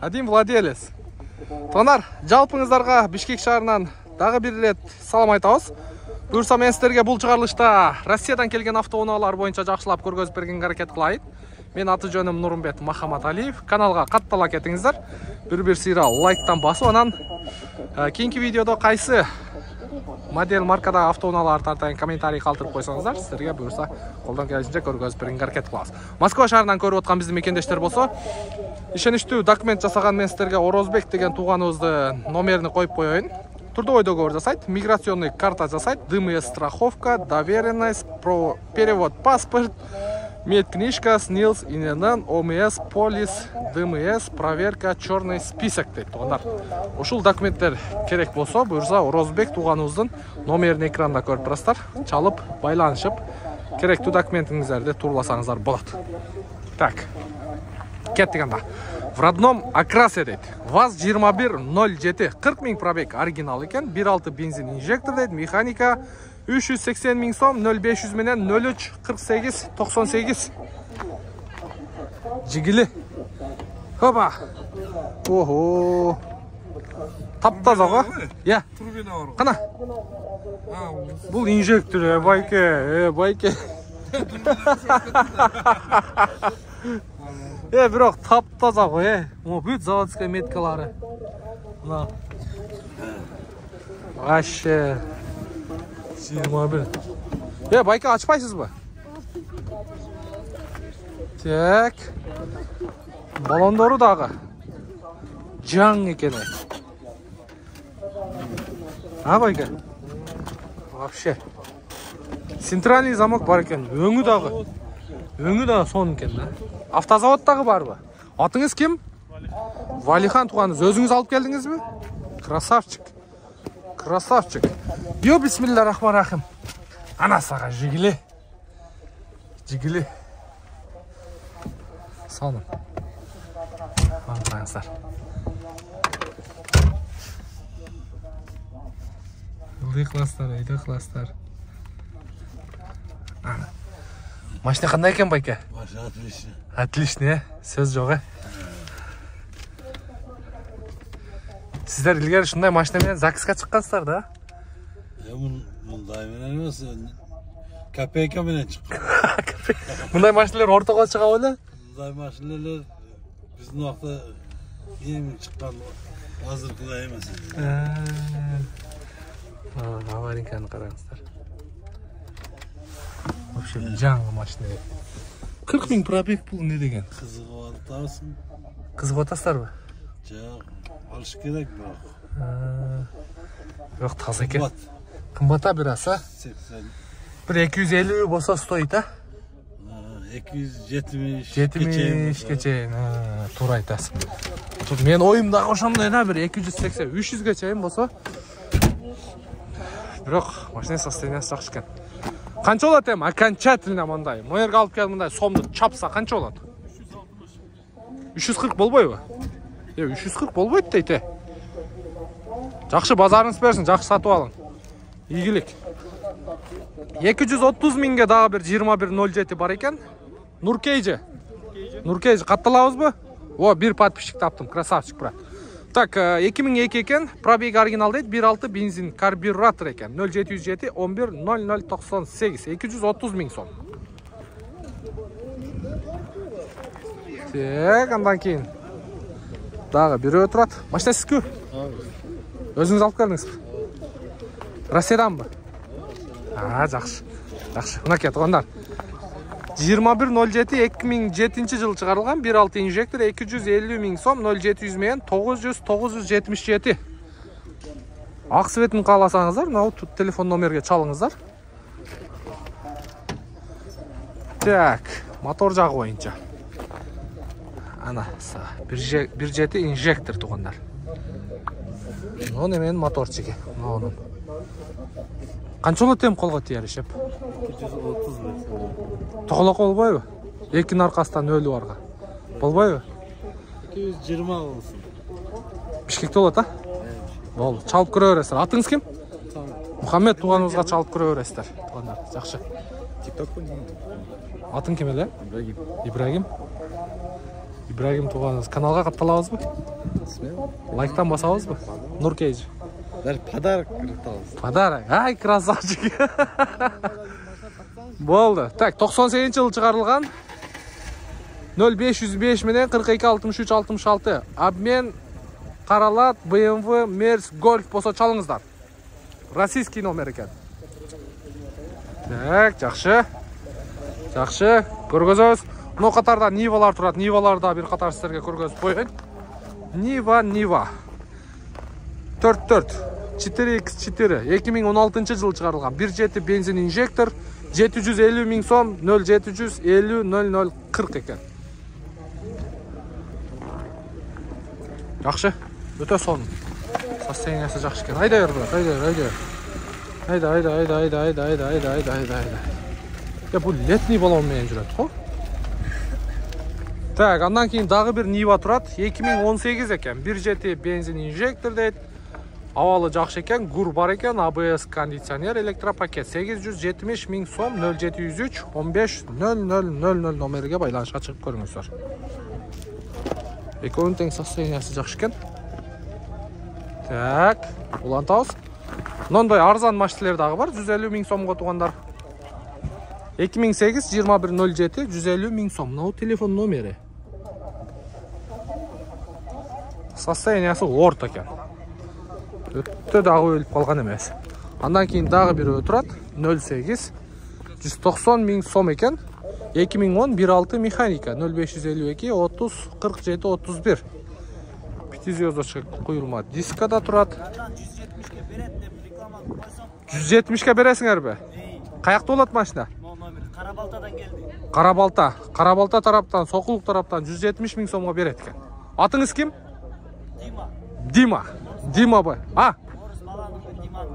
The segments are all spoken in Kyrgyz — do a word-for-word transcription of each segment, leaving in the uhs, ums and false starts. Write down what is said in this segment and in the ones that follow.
Один владелец. Тонар, жалпыңыздарга Бишкек шаарынан дагы бир ирет салам айтабыз. Буюрса мен сиздерге бул чыгарылышта Россиядан келген автоунаалар боюнча жакшылап көргөзүп бергенге аракет кылайын. Мен аты жөнүм Нурмбет Махаматалиев. Каналга каттала кетиңиздер. Бир-бир сыйра лайктан басып, анан кийинки видеодо кайсы модель маркада автоунаалар тартайын комментарий калтырып койсоңуздар, сиздерге буюрса колдон келишинче көргөзүп бергенге аракет кылабыз. Москва шаарынан көрүп аткан биздин мекендештер болсо, ишеничтүү документ жасаган мен сиздерге Орозбек деген тууганыбыздын номерин коюп коеюн. Трудовой договор жасайт, миграционный карта жасайт, ДМС страховка, доверенность, про перевод паспорт, медкнижка, СНИЛС, ИНН, ОМС, полис, ДМС, проверка, черный список дейт туугандар. Ушул документтер керек болсо, буюрса Орозбек тууганыбыздын номерин экранда көрүп турасыздар. Чалып, байланышып, керектүү документиңиздерди турласаңыздар болот. Так. Кеттик анда. В родном окрасе дейт. ВАЗ жыйырма бир ноль жети кырк миң пробег оригинал экен. бир алты бензин инжектор дейт. Механика үч жүз сексен миң сом, нөл беш жүз менен нөл үч кырк сегиз токсон сегиз. Жигили. Хопа. Ого. Таптаза го? Я. Турбина бар. Кана. Бул инжектор, э, байке, э, байке. Э, бирок таптаза го, э. Mo бүт заводская меткалары. Мына. Вообще. жыйырма бир. Э, байке ачпайсызбы? Так. Балондору дагы. Жаң экен. А, байке? Вообще. Центральный замок бар экен. Өңү дагы. Өңү дагы сон экен да. Автозавод дагы барбы? Атыңыз ким? Валихан тууганыңыз. Өзүңүз алып келдиңизби? Красавчик. Красавчик. Йо, бисмиллахиррахманиррахим. Ана сага жигили. Жигили. Соным. Аңсаңыздар. Ылдый класстар, өйдө класстар. Ана. Машина кандай экен, байке? Машина отлично. Отлично, э? Сөз жок, э? Сиздер илгери ушундай машина менен ЗАГСка чыккансыздар да? Э, мындай менен эмес, копейка менен чыккан. Мындай машиналар ортого чыга беле? Мындай машиналар биздин убакта эң чыккан азыркыдай эмес. А, аварийканы караңыздар. Вообще жаңы машина. кырк миң пробег бул не деген? Кызыгып атасың. Кызыгып атасыздарбы? Жок, алыш керек бирок. Бирок таза экен. Кымбата бир аса? сексен. Бир эки жүз элүү болсо стоит, а? эки жүз жетимиш. жетимишке чейин. Туура айтасың. Мен оюмдагы ошондой да, бир эки жүз сексен, үч жүзгө чейин болсо. Бирок машина состояниясы жакшы экен. Канча болот эми окончательно мындай? Мэрге алып келип мындай сомду чапса канча болот? үч жүз кырк болбойбу? Э, үч жүз кырк болбойт дейт, э. Жакшы базарыңыз берсин, жакшы сатып алың. Ийгилик. эки жүз отуз миңге дагы бир жыйырма бир ноль жети бар экен. Нуркейжи. Нуркейжи катталабызбы? О, бир подписчик таптым, красавчик, брат. Так, эки миң эки экен, пробег оригинал дейт, бир алты бензин карбюратор экен. нөл жети жүз жети он бир ноль ноль токсон сегиз, эки жүз отуз миң сом. Так, андан кийин дагы бирөө турат. Машина сизби? Өзүңүз алып келдиңизби? Россияданбы? А, жакшы. Жакшы. Мынакей туугандар. жыйырма бир ноль жети эки миң жетинчи жылы чыгарылган, бир алты инжектор, эки жүз элүү миң сом, нөл жети жүз менен тогуз жүз тогуз жүз жетимиш жети. Ак светин кааласаңыздар, мына телефон номерге чалыңыздар. Так, мотор жагы боюнча. Ана, бир жети инжектор туугандар. Мына менен моторчиги, мына. Канча болот эми колго тияр ишеп? эки жүз отуз метр. Тоголок болбойбу? Экинин аркасынан нөлү барга. Болбойбу? эки жүз жыйырма болсун. Бишкекте болот, а? Болду. Чалып көрө бересиздер. Атыңыз ким? Мухаммед тууганыбызга чалып көрө бересиздер. Туугандар, жакшы. TikTok. Атың ким эле? Ибрагим. Ибрагим. Ибрагим тууганыбыз каналга катталабызбы? Лайктан басабызбы? Нур Кейж. Даже подарок кыртабыз. Подарок. Ай, красавчик. Болду. Так, токсон сегизинчи жылы чыгарылган нөл беш жүз беш менен кырк эки алтымыш үч алтымыш алты. Обмен каралат бэ эм вэ Мерс Golf болсо чалыңыздар. Российский номер экен. Так, жакшы. Жакшы. Көргөзөбүз. Мына катарда Нивалар турат. Ниваларда бир катар сиздерге көргөзүп коеюн. Нива, Нива. төрт төрт четыре икс четыре эки миң он алтынчы жылы чыгарылган. бир жети бензин инжектор, жети жүз элүү миң сом, нөл жети жүз элүү нөл нөл кырк экен. Жакшы. Өтө сонун. Состояниясы жакшы экен. Айда бер, айда, айда. Айда, айда, айда, айда, айда, айда, айда, айда, айда, айда. Я бул летний баллон менен жүрөт го. Так, андан кийин дагы бир Нива турат. эки миң он сегиз экен. бир жети бензин инжектор дейт. Абалы жакшы экен, гур бар экен, а бэ эс кондиционер, электропакет. сегиз жүз жетимиш миң сом, нөл жети жүз үч он беш нөл нөл нөл нөл номерге байланышка чыгып көрүңүздөр. Экөөнүн тең состояниясы жакшы экен. Так, улантабыз. Мындай арзан машиналар дагы бар, жүз элүү миң сомго тугандар. эки миң сегиз жыйырма бир нөл жети жүз элүү миң сом. Мына телефон номери. Состояниясы орто экен. Өтө дагы өлүп калган эмес. Андан кийин дагы бирөө турат. нөл сегиз жүз токсон миң сом экен. эки миң он бир алты механика. нөл беш жүз элүү эки отуз кырк жети отуз бир. Пятизвездочка куюлма дискада турат. жүз жетимишке бересиңерби? Каякта болот машина? Карабалтадан келди. Карабалта. Карабалта тараптан, Сокулук тараптан жүз жетимиш миң сомго берет экен. Атыңыз ким? Дима. Дима. Дима бай. А? Орус баланыкы Дима.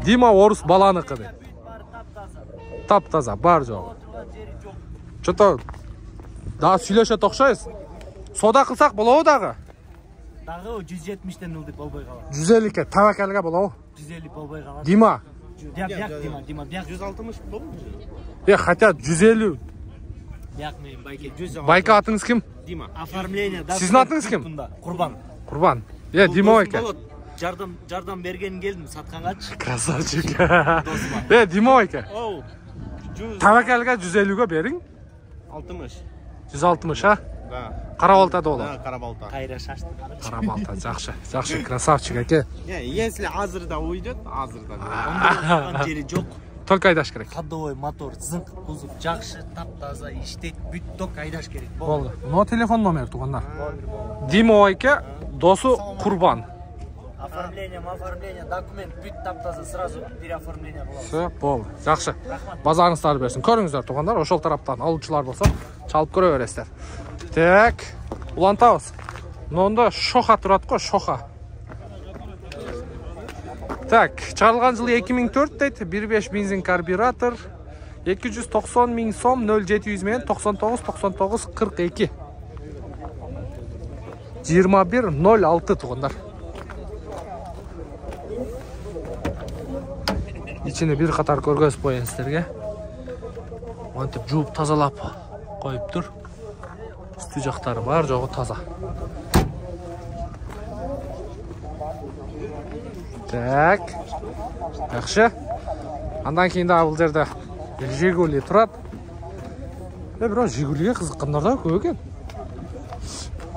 Дима орус баланыкы дейт. Бар таптаза. Таптаза, бар жок. Отурган жери жок. Чото дагы сүйлөшөт окшойбуз. Сода кылсак болобу дагы? Дагы жүз жетимиштен ылдып болбой калат. жүз элүүгө табакалга болобу? жүз элүү болбой калат. Дима. Бияк, бияк Дима, Дима, бияк жүз алтымыш болобу? Э, хотя жүз элүү. Бияк менен байке жүз. Байка атыңыз ким? Дима. Оформление да. Сиздин атыңыз ким? Курбан. Курбан. Э, Дима байке. Жардам, жардам берген келдим саткангачы. Красавчик. Э, Дима байке. Оу. жүз Табакалга жүз элүүгө бериң. алтымыш. жүз алтымыш, а? Да. Карабалтада болот. Да, Карабалта. Кайра шашты. Карабалта, жакшы. Жакшы, красавчик аке. Не, если азырда уйдет, азырда. Отурган жери жок. Только айдаш керек. Ходовой мотор, зыңк, кузов жакшы, таптаза иштейт, бүт ток айдаш керек. Болду. Но телефон номер тугандар. Дима байке, досу Курбан. Оформление, оформление, документ, бүт таптаза сразу переоформление кылабыз. Все, болду. Жакшы. Базарыңыздарды берсин. Көрүңүздөр тугандар, ошол тараптан алуучулар болсо, чалып көрө бересиздер. Так, улантабыз. Мында Шоха турат го, Шоха. Так, чыгарылган жылы эки миң төрт дейт, бир беш бензин карбюратор, эки жүз токсон миң сом, нөл жети жүз менен токсон тогуз токсон тогуз кырк эки. жыйырма бир нөл алты тугандар. Ичине бир катар көргөзүп коеюн сиздерге. Мынтип жууп тазалап коюптур. Үстү жактары бар жогу таза. Так. Жакшы. Андан кийин да бул жерде Жигули турат. Э, бирок Жигулиге кызыккандар да көп экен.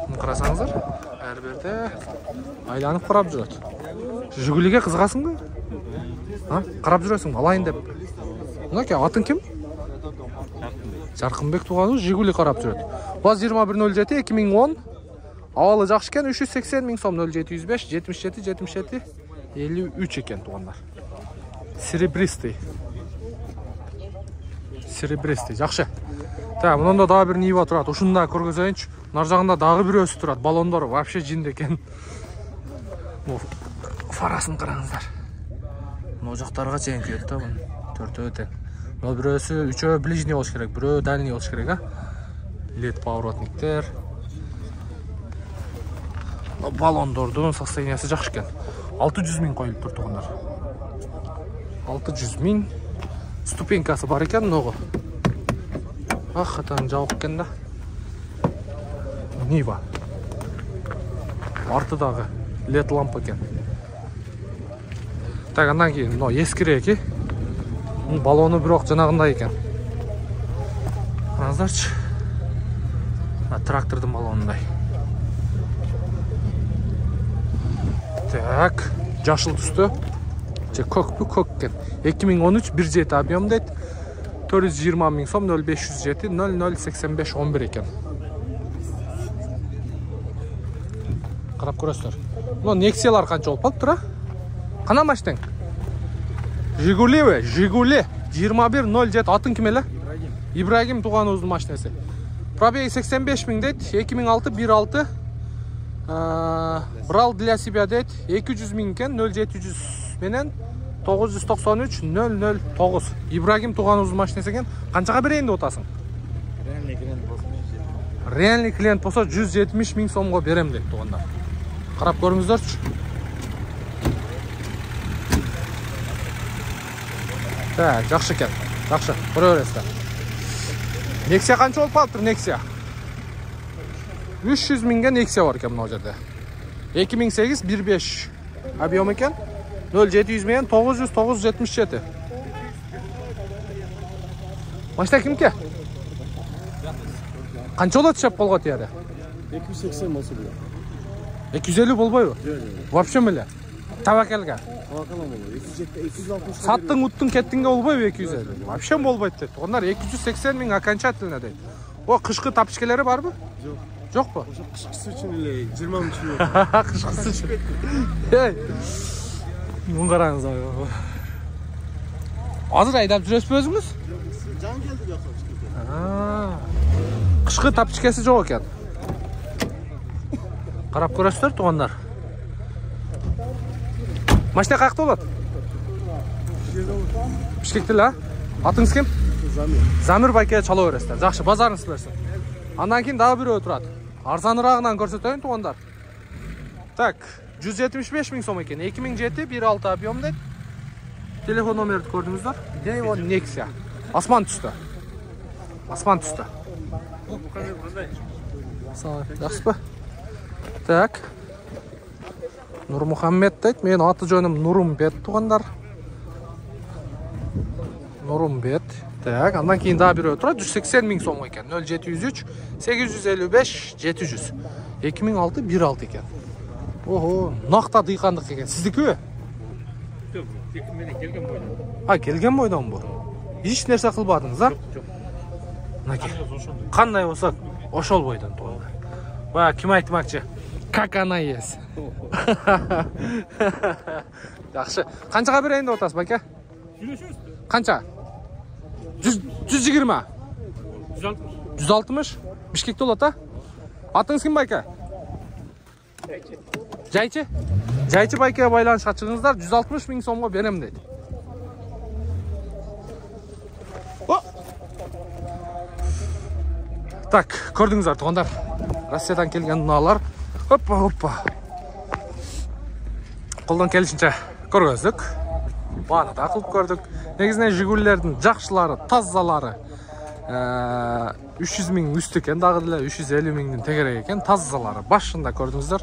Муну карасаңыздар, ар жерде айланып карап жүрөт. Жигулиге кызыгасыңбы? А? Карап жүрөсүң, алайын деп. Мынаке, атың ким? Жаркынбек тууганыбыз Жигули карап жүрөт. Баз жыйырма бир нөл жети эки миң он. Абалы жакшы экен, үч жүз сексен миң сом, нөл жети жүз беш жетимиш жети жетимиш жети элүү үч экен тугандар. Серебристый. Серебристый, жакшы. Так, мында дагы бир Нива турат. Ушунда көргөзөйүнчү. Нар жагында дагы бирөөсү турат. Баллондору вообще жинд экен. Бу фарасын караңыздар. Мына жактарга чейин күйөт да бун. Төртөө тең. Мына бирөөсү, үчөө ближний болуш керек, бирөө дальний болуш керек, а? Лед поворотниктер. Баллондордун состояниясы жакшы экен. алты жүз миң коюлуп тур тугандар. алты жүз миң. Ступенькасы бар экен, ногу. Ах, атаң жабык экен да. Нива. Арты дагы лед лампа экен. Так, андан кийин мына эскирээки. Балону бирок жанагындай экен. Караңыздарчы. Трактордун балонундай. Так, жашыл түстө. Же көкпү көк экен. эки миң он үч бир жети объем дейт. төрт жүз жыйырма миң сом нөл беш жүз жети нөл нөл сексен беш он бир экен. Карап көрөсүздөр. Мына Nexia-лар канча болуп калыптыр, а? Кана машинең? Жигулиби? Жигули жыйырма бир нөл жети. Атын ким эле? Ибрагим тууганыбыздын машинеси. Пробеги сексен беш миң дейт. эки миң алты бир алты. Брал для себя дейт. эки жүз миң экен. нөл жети жүз менен тогуз жүз токсон үч нөл нөл тогуз. Ибрагим тууганыбыздын машинеси экен. Канчага берейин деп атасың? Реальный клиент болсо. Реальный клиент болсо жүз жетимиш миң сомго берем дейт туугандар. Карап көрүңүздөрчү. Так, жакшы экен. Жакшы. Көрө бересиздер. Nexia канча болуп калыптыр, Nexia? үч жүз миңге Nexia бар экен мына жерде. эки миң сегиз бир беш объем экен. нөл жети жүз менен тогуз жүз тогуз жүз жетимиш жети. Машина кимке? Канча болот шеп колго тияде? эки жүз сексен болсо болот. эки жүз элүү болбойбу? Вообще меле. Табакелге. Табакалам болот. эки жүз жети эки жүз алтымыш. Саттың, уттың, кеттиңге болбойбу эки жүз элүү? Вообще болбойт дейт. Ондар эки жүз сексен миң окончательно дейт. О, кышкы тапочкалары барбы? Жок. Жокпу? Ошо кышкысы үчүн эле жыйырма миң чүй. Кышкысы үчүн. Эй. Мун караңыз. Азыр айдап жүрөсүзбү өзүңүз? Жан келди жакшы. Кышкы тапочкасы жок экен. Карап көрөсүздөр туугандар. Машина каякта болот? Бишкекте эле, а? Атыңыз ким? Замир. Замир байке чала бересиздер. Жакшы, базарыңыз берсин. Андан кийин дагы бирөө турат. Арзаныраагынан көрсөтөйүн туугандар. Так, жүз жетимиш беш миң сом экен. эки миң жети бир алты объем дейт. Телефон номерди көрдүңүздөр. Део Nexia. Асман түстө. Асман түстө. Салам, жакшысызбы? Так. Нурмухаммед дейт. Менин аты жөнүм Нурумбет туугандар. Нурумбет. Так, андан кийин дагы бирөө турат. жүз сексен миң сом экен. нөл жети жүз үч сегиз жүз элүү беш жети жүз. эки миң алты бир алты экен. Ого, накта дыйкандык экен. Сиздикиби? Жок, менен келген бойдон. А, келген бойдон бу. Эч нерсе кылбадыңыз, а? Жок. Мынакей. Кандай болсо ошол бойдон туугандар. Ба, ким айтмакчы? Как она есть. Жакшы. Канчага берейин деп атасыз, байке? Сүйлөшөбүз. Канча? жүз жыйырма. жүз алтымыш. Бишкекте болот, а? Атыңыз ким, байке? Жайчы. Жайчы байке байланышка чыгыңыздар, жүз алтымыш миң сомго берем дейт. Так, көрдүңүздөр туугандар. Россиядан келген унаалар. Оппа, оппа. Колдон келишинче көргөздүк. Бааны да кылып көрдүк. Негизинен Жигулилердин жакшылары, тазалары үч жүз миң үстү экен, дагы деле үч жүз элүү миңдин тегерек экен. Тазалары башында көрдүңүздөр.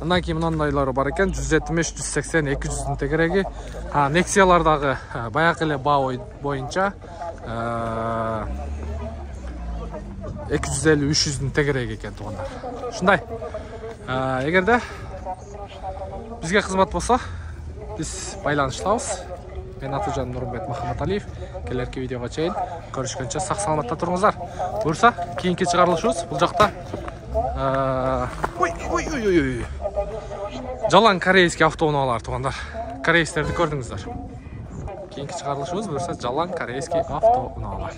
Андан кийин мынандайлары бар экен, жүз жетимиш, жүз сексен, эки жүздүн тегереги. Nexia-лар дагы баягы эле баа боюнча эки жүз элүү, үч жүздүн тегереги экен туугандар. Ушундай. Эгерде бизге кызмат болсо, биз байланыштабыз. Мен аты жөнүм Нурумбет Махаматалиев. Келерки видеого чейин көрүшкөнчө сак саламатта туруңуздар. Буюрса, кийинки чыгарылышыбыз бул жакта ой ой ой ой. Жалаң корейский автоунаалар туугандар. Корейстерди көрдүңүздөр. Кийинки чыгарылышыбыз буюрса жалаң корейский автоунаалар.